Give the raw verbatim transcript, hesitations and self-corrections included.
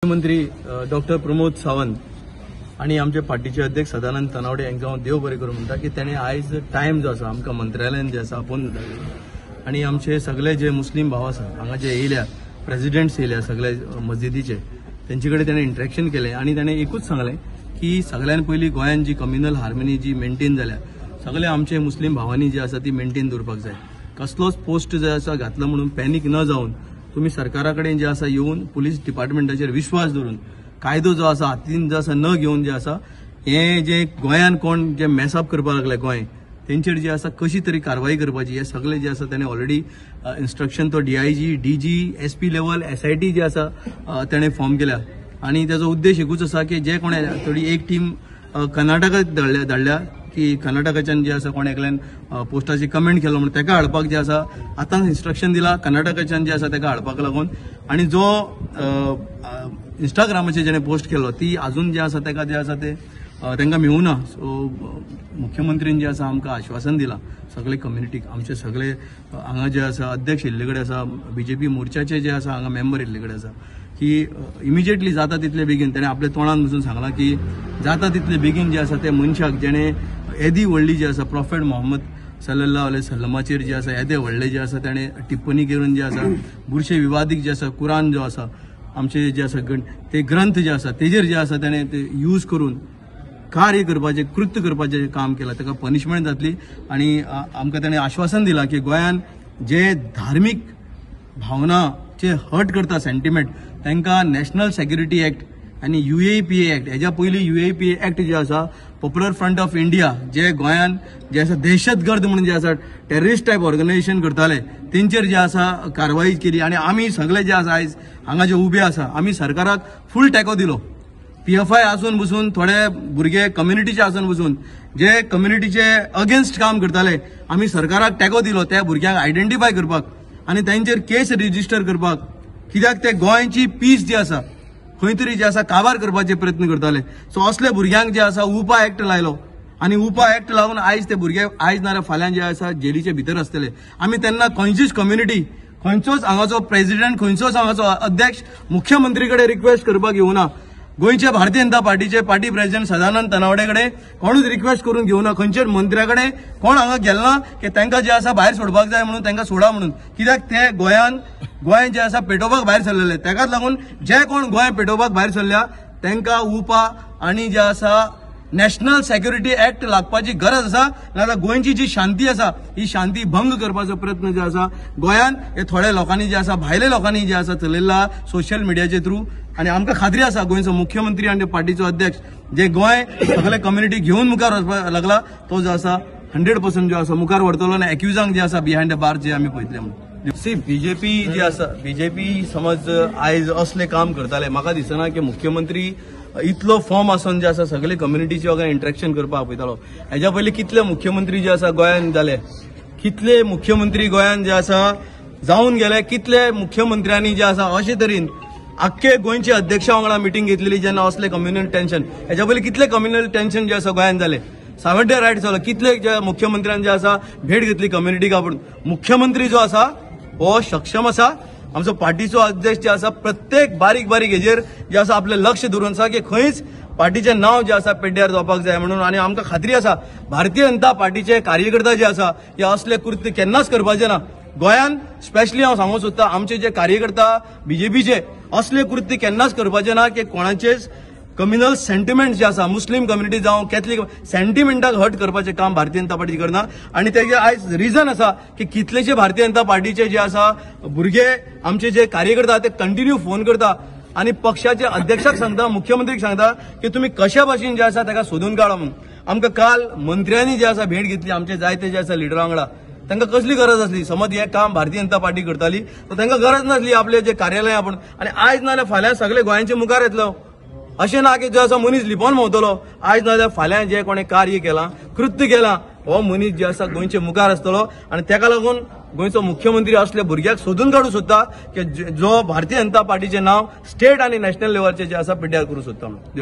मुख्यमंत्री डॉक्टर प्रमोद सावंत आणि आमचे पार्टीचे अध्यक्ष सदानंद तानावडे हांकां हांव देव बरें करूं म्हणटा की ताणें आयज टायम जो आसा आमकां मंत्रालयान जे आसा आपोवन धाडले आनी आमचे सगळे जे मुस्लीम भाव आसा हांगा जे येयल्या, प्रेजिडेंट्स येयल्या सगळे मस्जिदीचे, तेंचे कडेन ताणें इंटरेक्शन केलें आनी ताणें एकूच सांगलें की सगळ्यान पयलीं गोंयान जी कम्युनल हार्मनी जी मेंटेन जाल्या सगळे आमचे मुस्लीम भावांनी जी आसा ती मेंटेन दवरपाक जाय. कसलोच पोस्ट जे आसा घातलो म्हणून पॅनीक न जावन तुमी सरकारा कडेन जे आसा येवन पुलीस डिपार्टमेंटाचेर विश्वास दवरून कायदो जो आसा हातीन जो आसा न घेवन जे आसा हे जे गोंयान कोण जे मेसअप करपाक लागले गोंय तेंचेर जे आसा कशी तरी कारवाई करपाची हे सगळे जे आसा तेणे ऑलरेडी इन्स्ट्रक्शन तो D I G, D G, S P level S I T जे आसा तेणे फॉर्म केल्या आनी तेजो उद्देश एकूच आसा की जे कोणे थोडी एक टीम कर्नाटकाक धाडल्या धाडल्या की कर्नाटकाच्यान जे आसा कोण एकल्यान पोस्टाची कमेंट केलो म्हणून तेका हाडपाक जे आसा आतां इन्स्ट्रक्शन दिला कर्नाटकाच्यान जे आसा तेका हाडपाक लागून. आनी जो इंस्टाग्रामाचेर जेणे पोस्ट केलो ती अजून जे आसा तेका जे आसा ते तांकां मेळूना. सो मुख्यमंत्रीन जे आसा आमकां आश्वासन दिलां सगळे कम्युनिटीक, आमचे सगळे हांगा जे आसा अध्यक्ष येल्ले कडेन आसा, बीजेपी मोर्चाचे जे आसा हांगा मेंबर येल्ले कडेन आसा की इमिजिएटली जाता तितले बेगीन तेणें आपल्या तोंडान बसून सांगलां की जाता तितले बेगीन जे आसा ते मनशाक जेणे येदी व्हडली जी आसा प्रॉफेट मोहम्मद सल्लल्लाहु अलैहि वसल्लमाचेर जे आसा येदे व्हडले जे आसा तेणें टिप्पणी करून जे आसा बुरशे विवादीक जे आसा कुरान जो आसा आमचे जे आसा ते ग्रंथ जे आसा तेजेर जे आसा तेणें ते यूज करून कार्य करपाचें कृत्य करपाचें काम केलां ताका पनिशमेंट जातली. आनी आमकां तेणें आश्वासन दिलां की गोंयान जे धार्मीक भावनाचे हर्ट करता सेंटिमेंट तांकां नॅशनल सेक्युरिटी एक्ट आनी U A P A act, हेज्या पयलीं U A P A act जे आसा पॉप्युलर फ्रंट ऑफ इंडिया जे गोंयान जे आसा दहशतगर्द म्हणून जे आसा टेररिस्ट टायप ऑर्गनायझेशन करताले तेंचेर जे आसा कारवाई केली. आनी आमी सगळे जे आसा आयज हांगा जे उबे आसा आमी सरकाराक फूल टेको दिलो. पी एफ I आसून बसून थोडे भुरगे कम्युनिटीचे आसून बसून जे कम्युनिटीचे अगेन्स्ट काम करताले आमी सरकाराक टेको दिलो त्या भुरग्यांक आयडेंटिफाय करपाक आनी तेंचेर केस रजिस्टर करपाक, कित्याक ते गोंयची पीस जी आसा खंय तरी जे आसा काबार करपाचे प्रयत्न करताले. सो असले भुरग्यांक जे आसा उपा एक्ट लायलो आनी उपा एक्ट लावन आयज ते भुरगे आयज नाजाल्यार फाल्यां जे आसा जेलीचे भितर आसतले. आमी तेन्ना खंयचीच कम्युनिटी खंयचोच हांगाचो प्रेजिडेंट खंयचोच हांगाचो अध्यक्ष मुख्यमंत्री कडेन रिक्वेस्ट करपाक येवना. गोंयचे भारतीय जनता पार्टीचे पार्टी प्रेजिडेंट सदानंद तानावडे कडेन कोणूच रिक्वेस्ट करून घेवना, खंयच्याच मंत्र्या कडेन कोण हांगा गेलना की तांकां जे आसा भायर सोडपाक जाय म्हणून तांकां सोडा म्हणून, कित्याक ते गोंयान गोंय जे आसा पेटोवपाक भायर सरलेले. ताकाच लागून जे कोण गोंय पेटोवपाक भायर सरल्या तांकां उपा आनी जे आसा नॅशनल सेक्युरिटी एक्ट लागपाची गरज आसा. नाजाल्यार गोंयची जी शांती आसा ही शांती भंग करपाचो प्रयत्न जे आसा गोंयान हे थोड्या लोकांनी जे आसा भायल्या लोकांनी जे आसा चलयला सोशल मिडियाचे थ्रू. आनी आमकां खात्री आसा गोंयचो मुख्यमंत्री आनी पार्टीचो अध्यक्ष जे गोंय सगळे कम्युनिटी घेवन मुखार वचपाक लागला तो जो आसा हंड्रेड पर्संट जो आसा मुखार व्हरतलो आनी एक्युजांक जे आसा बिहायंड the बार जे आमी पळयतले म्हणून. सी बीजेपी जी आसा बीजेपी समज आयज असलें काम करताले म्हाका दिसना की मुख्यमंत्री इतलो फॉर्म आसून जे आसा सगळे कम्युनिटीचे वांगडा इंटरेक्शन करपाक आपयतालो. हेज्या पयलीं कितले मुख्यमंत्री जे आसा गोंयान जाले, कितले मुख्यमंत्री गोंयान जे आसा जावन गेले, कितले मुख्यमंत्र्यांनी जे आसा अशे तरेन आख्खे गोंयचे अध्यक्षा वांगडा मिटींग घेतलेली जेन्ना असले कम्युनल टेन्शन. हेज्या पयलीं कितले कम्युनल टेन्शन जे आसा गोंयान जाले, सावड्डे रायट जालो, कितले जे मुख्यमंत्र्यान जे आसा भेट घेतली कम्युनिटीक आपोवन. मुख्यमंत्री जो आसा हो सक्षम आसा, आमचो पार्टीचो अध्यक्ष जे आसा प्रत्येक बारीक बारीक हेजेर जे आसा आपलें लक्ष दवरून आसा की खंयच पार्टीचें नांव जें आसा पेड्ड्यार जावपाक जाय म्हणून. आनी आमकां खात्री आसा भारतीय जनता पार्टीचे कार्यकर्ता जे आसा हे असले कृत्य केन्नाच करपाचे ना. गोंयान स्पेशली हांव सांगूंक सोदता आमचे जे कार्यकर्ता बीजेपीचे असले कृत्य केन्नाच करपाचे ना की कोणाचेच कम्युनल सेंटिमेंट जे आसा मुस्लीम कम्युनिटी जावं कॅथलीक सेंटिमेंटाक हर्ट करपाचें काम भारतीय जनता पार्टी करना. आनी तेजें आयज रिजन आसा की कितलेशे भारतीय जनता पार्टीचे जे आसा भुरगे आमचे जे कार्यकर्ता ते कंटिन्यू फोन करता आनी पक्षाचे अध्यक्षाक सांगता मुख्यमंत्रीक सांगता की तुमी कशा भाशेन जे आसा ताका सोदून काडा म्हणून. आमकां काल मंत्र्यांनी जे आसा भेट घेतली आमचे जायते जे आसा लिडरा वांगडा, तांकां कसली गरज आसली समज हें काम भारतीय जनता पार्टी करताली तर तांकां गरज नासली आपले जे कार्यालय आपूण. आनी आयज नाजाल्यार फाल्यां सगळे गोंयांचे मुखार येतलो अशें ना की जो आसा मनीस लिपोवन भोंवतलो. आयज नाजाल्यार फाल्यां जे कोणें कार्य केलां कृत्य केलां हो मनीस जे आसा गोंयचे मुखार आसतलो आनी ताका लागून गोंयचो मुख्यमंत्री असल्या भुरग्याक सोदून काडूंक सोदता की जो भारतीय जनता पार्टीचें नांव स्टेट आनी नॅशनल लेवलाचेर जे आसा पिड्ड्यार करूंक सोदता म्हणून.